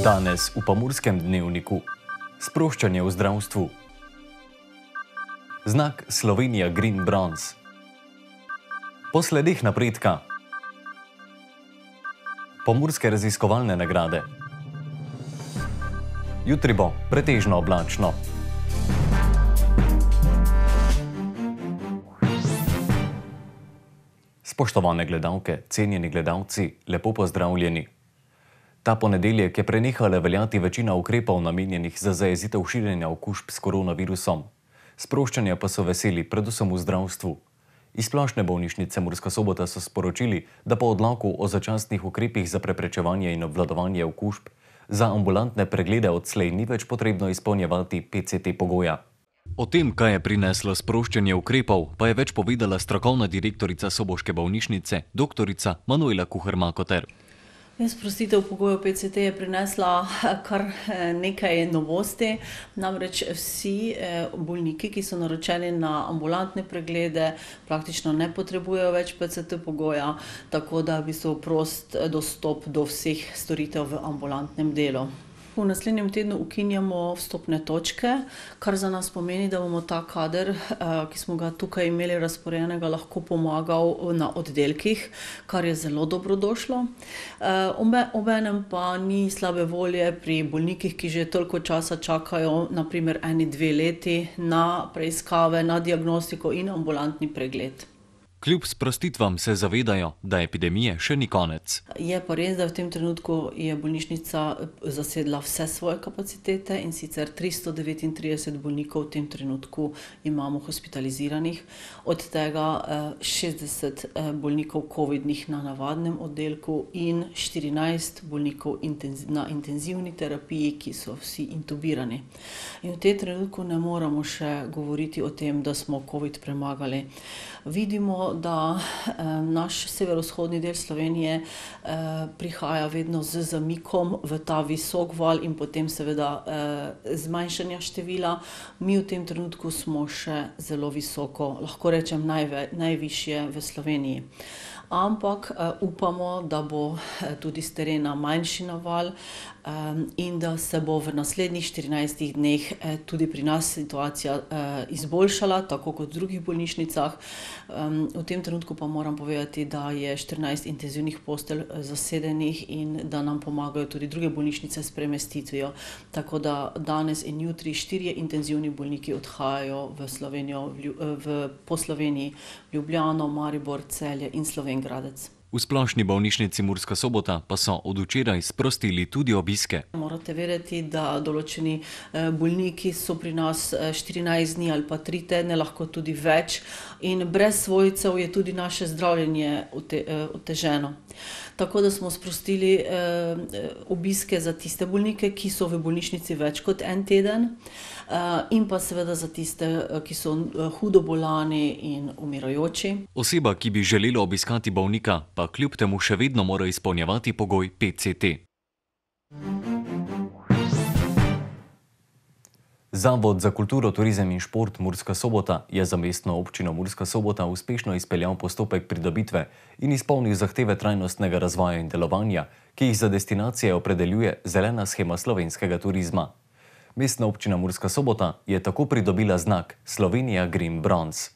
Danes v Pomurskem dnevniku. Sproščanje v zdravstvu. Znak Slovenija Green Bronze. Po sledih napredka. Pomurske raziskovalne nagrade. Jutri bo pretežno oblačno. Spoštovane gledalke, cenjeni gledalci, lepo pozdravljeni. Ta ponedeljek je prenehala veljati večina ukrepov namenjenih za zajezitev širjenja okužb s koronavirusom. Sproščanja pa so veseli predvsem v zdravstvu. Iz Splošne bolnišnice Murska Sobota so sporočili, da po odloku o začasnih ukrepih za preprečevanje in obvladovanje okužb za ambulantne preglede odslej ni več potrebno izpolnjevati PCT pogoja. O tem, kaj je prineslo sproščanje ukrepov, pa je več povedala strokovna direktorica Soboške bolnišnice, doktorica Manuela Kuher-Makoter. Sprostitev pogojev PCT je prinesla kar nekaj novosti, namreč vsi bolniki, ki so naročeni na ambulantne preglede, praktično ne potrebujejo več PCT pogoja, tako da v bistvu prost dostop do vseh storitev v ambulantnem delu. V naslednjem tednu ukinjamo vstopne točke, kar za nas pomeni, da bomo ta kader, ki smo ga tukaj imeli razporejenega, lahko pomagal na oddelkih, kar je zelo dobrodošlo. Obenem pa ni slabe volje pri bolnikih, ki že toliko časa čakajo, na primer 1-2 leti, na preiskave, na diagnostiko in ambulantni pregled. Kljub sprostitvam se zavedajo, da epidemije še ni konec. Je pa res, da v tem trenutku je bolnišnica zasedla vse svoje kapacitete in sicer 339 bolnikov v tem trenutku imamo hospitaliziranih, od tega 60 bolnikov covidnih na navadnem oddelku in 14 bolnikov na intenzivni terapiji, ki so vsi intubirani. In v tem trenutku ne moramo še govoriti o tem, da smo covid premagali. Vidimo, da naš severovzhodni del Slovenije prihaja vedno z zamikom v ta visok val in potem seveda zmanjšanja števila. Mi v tem trenutku smo še zelo visoko, lahko rečem najvišje v Sloveniji. Ampak upamo, da bo tudi s terena manjši naval in da se bo v naslednjih 14 dneh tudi pri nas situacija izboljšala, tako kot v drugih bolnišnicah. V tem trenutku pa moram povedati, da je 14 intenzivnih postelj zasedenih in da nam pomagajo tudi druge bolnišnice s premestitvijo. Tako da danes in jutri 4 intenzivni bolniki odhajajo v Slovenijo, po Sloveniji, Ljubljano, Maribor, Celje in Slovenj Gradec. V Splošni bolnišnici Murska Sobota pa so od včeraj sprostili tudi obiske. Morate vedeti, da določeni bolniki so pri nas 14 dni ali pa 3 tedne, lahko tudi več, in brez svojcev je tudi naše zdravljenje oteženo. Tako da smo sprostili obiske za tiste bolnike, ki so v bolnišnici več kot 1 teden, in pa seveda za tiste, ki so hudo bolani in umirajoči. Oseba, ki bi želela obiskati bolnika, pa kljub temu še vedno mora izpolnjevati pogoj PCT. Zavod za kulturo, turizem in šport Murska Sobota je za mestno občino Murska Sobota uspešno izpeljal postopek pridobitve in izpolnil zahteve trajnostnega razvoja in delovanja, ki jih za destinacije opredeljuje zelena shema slovenskega turizma. Mestna občina Murska Sobota je tako pridobila znak Slovenija Green Bronze.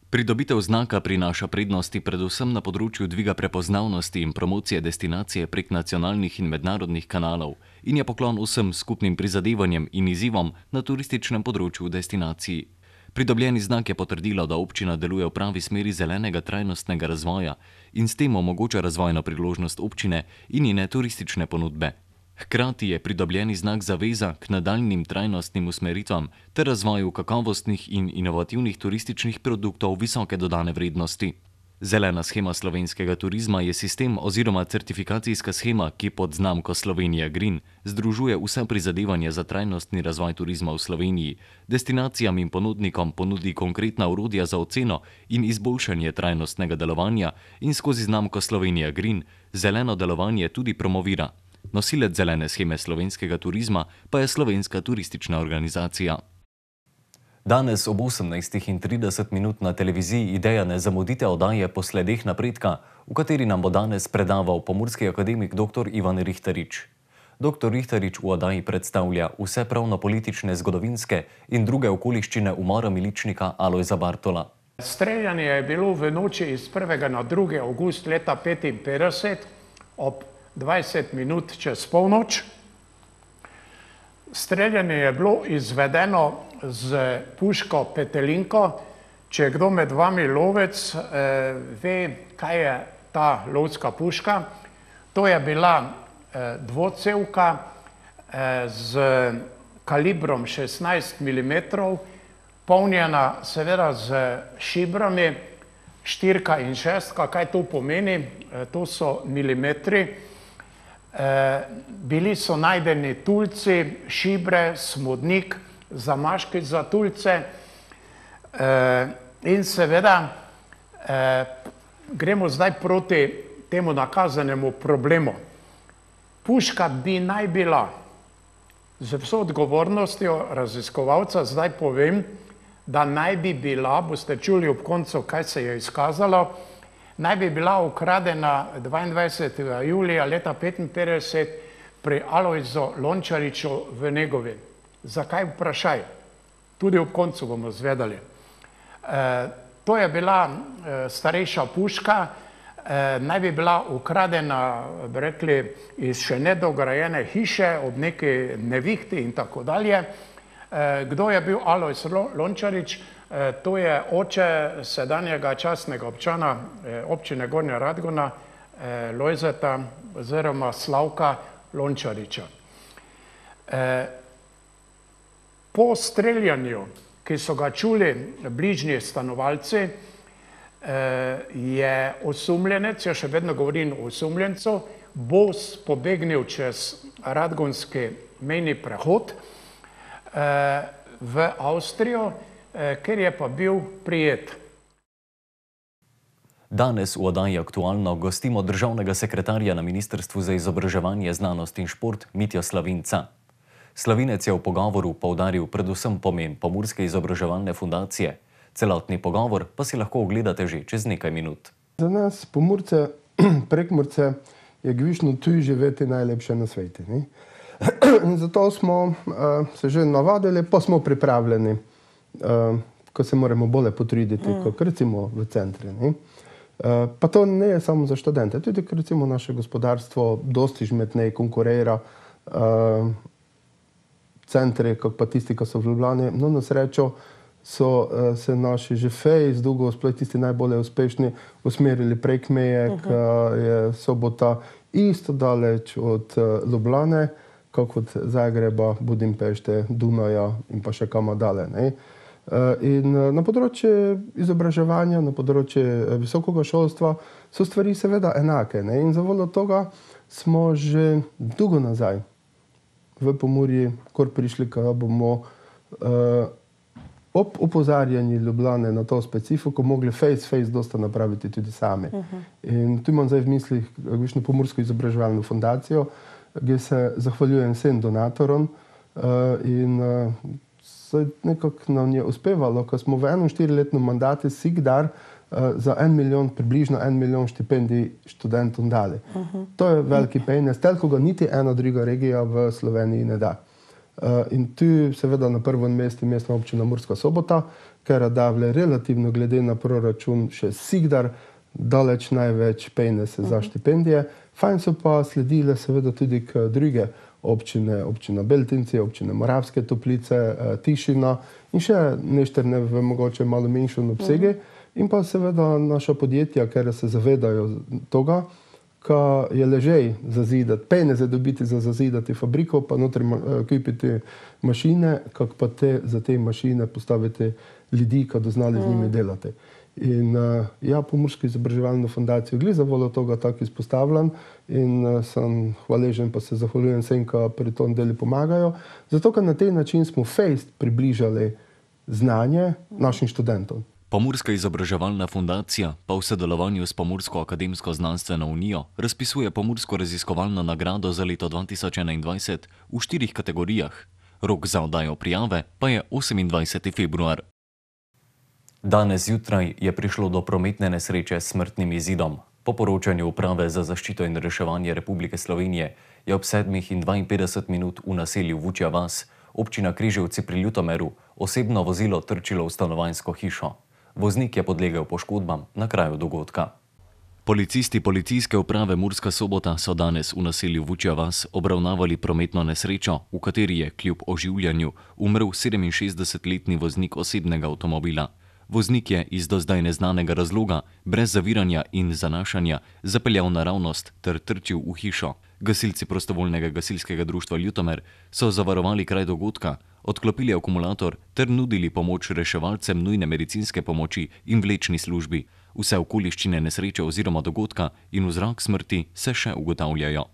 Pridobitev znaka prinaša prednosti predvsem na področju dviga prepoznavnosti in promocije destinacije prek nacionalnih in mednarodnih kanalov in je poklon vsem skupnim prizadevanjem in izzivom na turističnem področju v destinaciji. Pridobljeni znak je potrdilo, da občina deluje v pravi smeri zelenega trajnostnega razvoja in s tem omogoča razvojno priložnost občine in njene turistične ponudbe. Hkrati je pridobljeni znak zaveza k nadaljnjim trajnostnim usmeritvam ter razvoju kakovostnih in inovativnih turističnih produktov visoke dodane vrednosti. Zelena shema slovenskega turizma je sistem oziroma certifikacijska shema, ki pod znamko Slovenija Green združuje vsa prizadevanja za trajnostni razvoj turizma v Sloveniji, destinacijam in ponudnikom ponudi konkretna orodja za oceno in izboljšanje trajnostnega delovanja in skozi znamko Slovenija Green zeleno delovanje tudi promovira. Nosilec zelene sheme slovenskega turizma pa je Slovenska turistična organizacija. Danes ob 18:30 na televiziji Ideja ne zamudite oddaje Po sledeh napredka, v kateri nam bo danes predaval pomurski akademik dr. Ivan Rihterič. Dr. Rihtarič v oddaji predstavlja vse pravno-politične, zgodovinske in druge okoliščine umora miličnika Alojza Bartola. Streljanje je bilo v noči iz 1. na 2. avgust leta 1955 ob 20 minut čez polnoč. Streljanje je bilo izvedeno z puško Petelinko. Če kdo med vami lovec ve, kaj je ta lovska puška, to je bila dvocevka z kalibrom 16 mm, polnjena seveda z šibrami, 4 in 6. Kaj to pomeni? To so milimetri. Bili so najdeni tulci, šibre, smodnik, zamaški za tulce in seveda gremo zdaj proti temu nakazanemu problemu. Puška bi naj bila, z vso odgovornostjo raziskovalca zdaj povem, da naj bi bila, boste čuli ob koncu, kaj se je izkazalo, naj bi bila ukradena 22. julija leta 1955 pri Alojzu Lončariču v Negovi. Zakaj vprašaj? Tudi ob koncu bomo zvedali. To je bila starejša puška, naj bi bila ukradena, bi rekli, iz še nedograjene hiše ob neki nevihti in tako dalje. Kdo je bil Alojz Lončarič? To je oče sedanjega častnega občana občine Gornja Radgona, Lojzeta oziroma Slavka Lončariča. Po streljanju, ki so ga čuli bližnji stanovalci, je osumljenec, jaz še vedno govorim o osumljencu, bos pobegnil čez radgonski mejni prehod v Avstrijo, ker je pa bil prijet. Danes v oddaji Aktualno gostimo državnega sekretarja na Ministrstvu za izobraževanje, znanost in šport Mitjo Slavinca. Slavinec je v pogovoru poudaril predvsem pomen Pomurske izobraževalne fundacije. Celotni pogovor pa si lahko ogledate že čez nekaj minut. Za nas, Pomurce, Prekmurce, je Gvišno tuj živeti najlepše na svetu. In zato smo se že navadili, pa smo pripravljeni, ko se moramo bolje potruditi, kot recimo v centri. Pa to ne je samo za študente, tudi recimo naše gospodarstvo dosti žmetnej konkurira centri, kot pa tisti, ki so v Ljubljani. No, na srečo so se naši že fejs, dolgo sploh tisti najbolje uspešni, usmerili prek meje, ki je Sobota isto daleč od Ljubljane, kot od Zagreba, Budimpešte, Dunaja in pa še kam dalje. In na področju izobraževanja, na področju visokega šolstva so stvari seveda enake. In zavoljo tega smo že dolgo nazaj v Pomurji kar prišli, da bomo ob opozarjanju Ljubljane na to specifiko mogli face dosta napraviti tudi sami. In tu imam zdaj v mislih Gvišno Pomursko izobraževalno fundacijo, kjer se zahvaljujem vsem donatorom in nekako nam je uspevalo, ko smo v enem 4-letnem mandatu sikdar za 1 milijon, približno 1 milijon štipendij študentom dali. To je veliki penez, toliko ga niti ena druga regija v Sloveniji ne da. In tu seveda na prvem mestu mestna občina Murska Sobota, ker davle relativno glede na proračun še sikdar daleč največ peneze za štipendije. Fajn so pa sledile seveda tudi k druge občine, občina Beltinci, občine Moravske Toplice, Tišina in še nešterne v mogoče malo menjšem obsegu. In pa seveda naša podjetja, ker se zavedajo toga, ko je ležej zazidati, peneze dobiti za zazidati fabriko, pa notri kupiti mašine, kako pa za te mašine postaviti ljudi, ki bodo znali z njimi delati. In ja, Pomursko izobraževalno fundacijo glede zavoljo toga tako izpostavljam in sem hvaležen, pa se zahvaljujem vsem, ki pri tom delu pomagajo, zato ker na tej način smo fejst približali znanje našim študentom. Pomurska izobraževalna fundacija pa v sodelovanju s Pomursko akademsko-znanstveno unijo razpisuje Pomursko raziskovalno nagrado za leto 2021 v 4 kategorijah. Rok za oddajo prijave pa je 28. februar. Danes zjutraj je prišlo do prometne nesreče s smrtnim izidom. Po poročanju Uprave za zaščito in reševanje Republike Slovenije je ob 7:52 v naselju Vučja vas, občina Križevci pri Ljutomeru, osebno vozilo trčilo v stanovanjsko hišo. Voznik je podlegel poškodbam na kraju dogodka. Policisti Policijske uprave Murska Sobota so danes v naselju Vučja vas obravnavali prometno nesrečo, v kateri je kljub oživljanju umrl 67-letni voznik osebnega avtomobila. Voznik je iz do zdaj neznanega razloga, brez zaviranja in zanašanja, zapeljal naravnost ter trčil v hišo. Gasilci prostovoljnega gasilskega društva Ljutomer so zavarovali kraj dogodka, odklopili akumulator ter nudili pomoč reševalcem nujne medicinske pomoči in vlečni službi. Vse okoliščine nesreče oziroma dogodka in vzrok smrti se še ugotavljajo.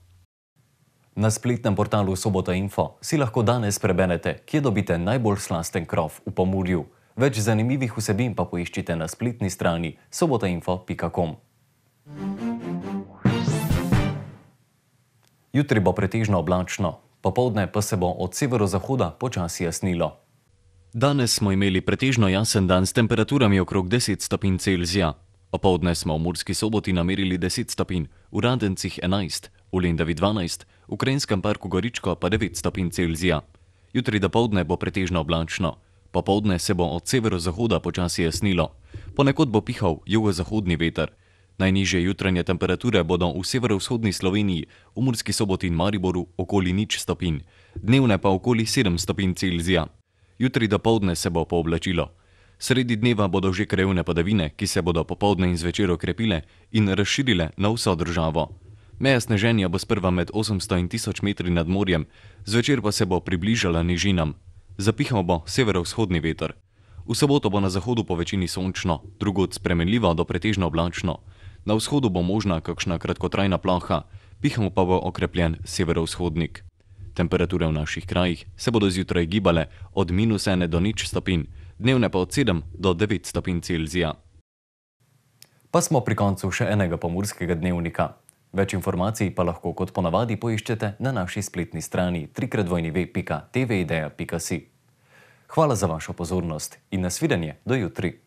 Na spletnem portalu Sobota Info si lahko danes preberete, kje dobite najbolj slasten krof v Pomurju. Več zanimivih vsebin pa poiščite na spletni strani sobotainfo.com. Jutri bo pretežno oblačno, popoldne pa se bo od severozahoda počasi jasnilo. Danes smo imeli pretežno jasen dan s temperaturami okrog 10 stopinj Celzija. Opoldne smo v Murski Soboti namerili 10 stopinj, v Radencih 11, v Lendavi 12, v Krajnskem parku Goričko pa 9 stopinj Celzija. Jutri dopoldne bo pretežno oblačno. Popoldne se bo od severozahoda počasi jasnilo. Ponekod bo pihal jugozahodni veter. Najnižje jutranje temperature bodo v severovzhodni Sloveniji, v Murski Soboti in Mariboru okoli 0 stopinj, dnevne pa okoli 7 stopinj Celzija. Jutri dopoldne se bo pooblačilo. Sredi dneva bodo že krajevne padavine, ki se bodo popoldne in zvečer okrepile in razširile na vso državo. Meja sneženja bo sprva med 800 in 1000 metri nad morjem, zvečer pa se bo približala nižinam. Zapihal bo severovzhodni veter. V soboto bo na zahodu po večini sončno, drugod spremenljivo do pretežno oblačno. Na vzhodu bo možna kakšna kratkotrajna ploha, pihal pa bo okrepljen severovzhodnik. Temperature v naših krajih se bodo zjutraj gibale od -1 do 0 stopinj, dnevne pa od 7 do 9 stopinj Celzija. Pa smo pri koncu še enega pomurskega dnevnika. Več informacij pa lahko kot ponavadi poiščete na naši spletni strani www.tvideja.si. Hvala za vašo pozornost in nasvidenje do jutri.